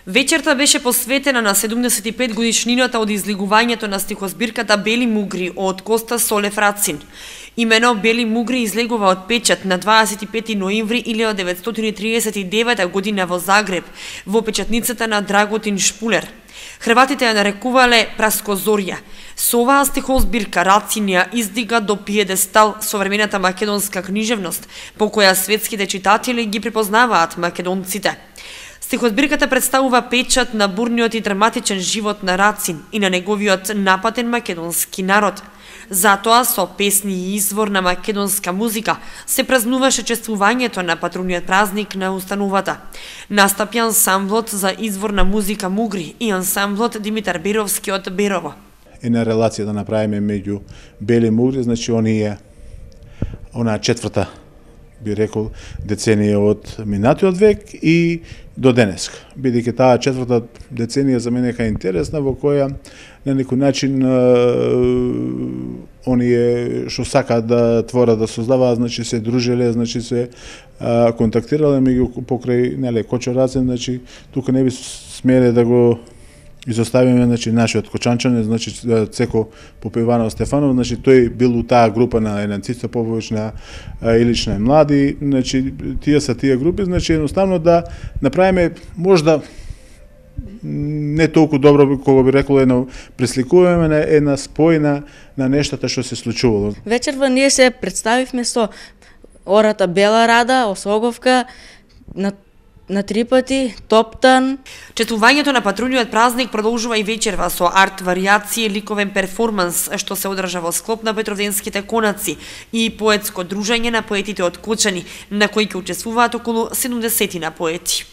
Вечерта беше посветена на 75 годишнината од излегувањето на стихозбирката Бели мугри од Коста Солев Рацин. Имено Бели мугри излегува од печат на 25 ноември 1939 година во Загреб, во печатницата на Драготин Шпулер. Хрватите ја нарекувале Прасkozorja. Со оваа стихозбирка Рацин ја издига до пиедестал современата македонска книжевност, по која светските читатели ги припознаваат македонците. Стихозбирката представува печат на бурниот и драматичен живот на Рацин и на неговиот напатен македонски народ. Затоа со песни и извор на македонска музика се празнуваше чествувањето на патруниот празник на установата. Настапи ансамблот за изворна музика Мугри и ансамблот Димитар Беровски од Берово. Една релација да направиме меѓу Бели мугри, значи онаа четврта, би рекол, деценија од минатиот век и до денеска. Бидејќи таа четврта деценија за мене е интересна, во која на некој начин оние што сакаат да творат, да создаваат, значи се дружеле, значи се контактирале меѓу покрај Кочо Рацин, значи тука не би смеле да го изоставиме, значи нашиот Кочанчанин, значи Цеко Попиванов Стефанов, значи тој бил у таа група на Енанцица Попович, на Илич на млади, значи тие се тие групи, значи едноставно да направиме можда не толку добро, кога би рекол, едно пресликуваме една спојна на нештата што се случувало. Вечерва ние се представивме со ората Бела Рада, Осоговка, на три пати, Топтан. Чествувањето на патруниот празник продолжува и вечерва со арт варијации, ликовен перформанс што се одржа во склоп на Петровденските конаци и поетско дружење на поетите од Кочани, на кои ќе учествуваат околу 70 поети.